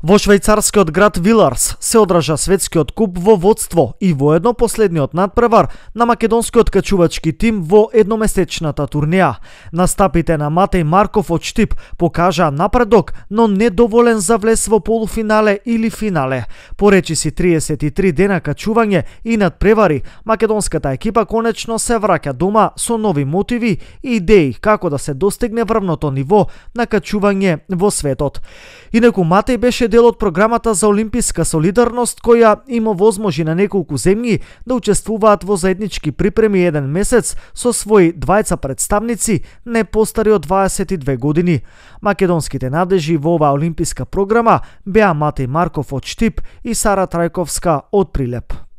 Во швајцарскиот град Виларс се одржа светскиот куп во водство и воедно последниот надпревар на македонскиот качувачки тим во едномесечната турнеја. Настапите на Матеј Марков од Штип покажаа напредок, но недоволен за влез во полуфинале или финале. По речиси 33 дена качување и надпревари, македонската екипа конечно се враќа дома со нови мотиви и идеи како да се достигне врвното ниво на качување во светот. Инаку Матеј беше дел од програмата за олимписка солидарност која има возможи на неколку земји да учествуваат во заеднички припреми еден месец со своји двајца представници не постари од 22 години. Македонските надежи во оваа олимписка програма беа Матеј Марков од Штип и Сара Трајковска од Прилеп.